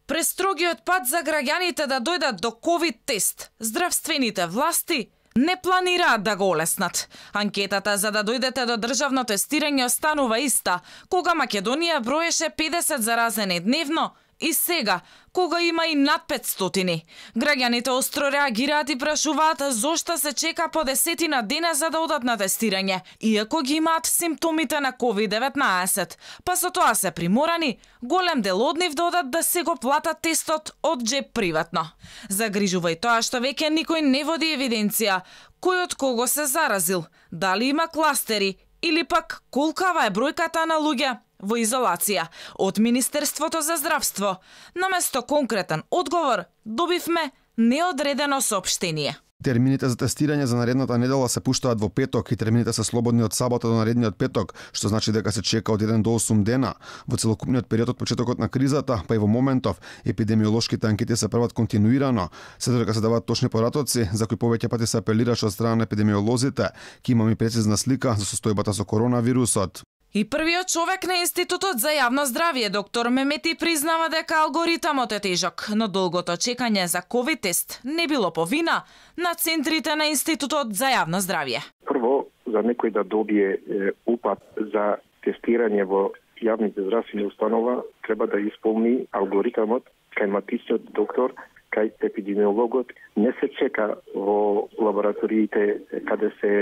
Престрогиот пат за граѓаните да дојдат до ковид тест, здравствените власти не планираат да го олеснат. Анкетата за да дојдете до државно тестирање останува иста, кога Македонија броеше 50 заразени дневно, и сега, кога има и над 500. Граѓаните остро реагираат и прашуваат зошто се чека по 10 дена за да одат на тестирање, иако ги имаат симптомите на COVID-19. Па со тоа се приморани, голем дел од нив да одат да се го платат тестот од джеб приватно. Загрижува и тоа што веќе никој не води евиденција кој од кого се заразил, дали има кластери или пак колкава е бројката на луѓе во изолација. Од Министерството за здравство, наместо конкретен одговор, добивме неодредено соопштение. Термините за тестирање за наредната недела се пуштаат во петок и термините се слободни од сабота до наредниот петок, што значи дека се чека од 1 до 8 дена. Во целокупниот период од почетокот на кризата, па и во моментов, епидемиолошките анкети се прават континуирано, се додека се даваат точни поратоци, за кои повеќе пати се апелираше од страна на епидемиолозите, ки имаме прецизна слика за состојбата со коронавирусот. И првиот човек на Институтот за јавно здравје, доктор Мемети, признава дека алгоритамот е тежок, но долгото чекање за ковид тест не било по вина на центрите на Институтот за јавно здравје. Прво, за некој да добие упат за тестирање во јавните здравствени установа, треба да исполни алгоритамот кај матичниот доктор, кај епидемиологот. Не се чека во лабораториите каде се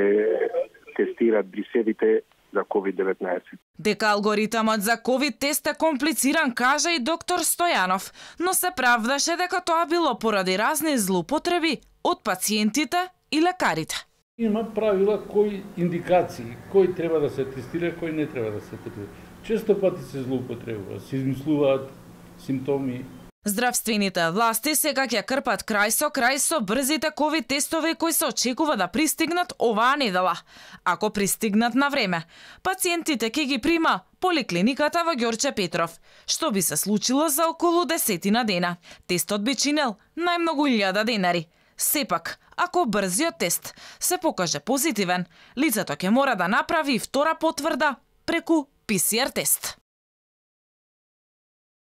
тестираат брисевите за COVID-19. Дека алгоритамот за ковид тест е комплициран, кажа и доктор Стојанов, но се правдаше дека тоа било поради разни злоупотреби од пациентите и лекарите. Има правила кои индикации, кој треба да се тестира, кој не треба да се тестира. Често пати се злоупотребува, се измислуваат симптоми. Здравствените власти сега ќе крпат крај со брзите ковид тестови кои се очекува да пристигнат оваа недела. Ако пристигнат на време, пациентите ќе ги прима поликлиниката во Ѓорче Петров, што би се случило за околу 10 дена. Тестот би чинел најмногу 1000 денари. Сепак, ако брзиот тест се покаже позитивен, лицето ќе мора да направи втора потврда преку PCR тест.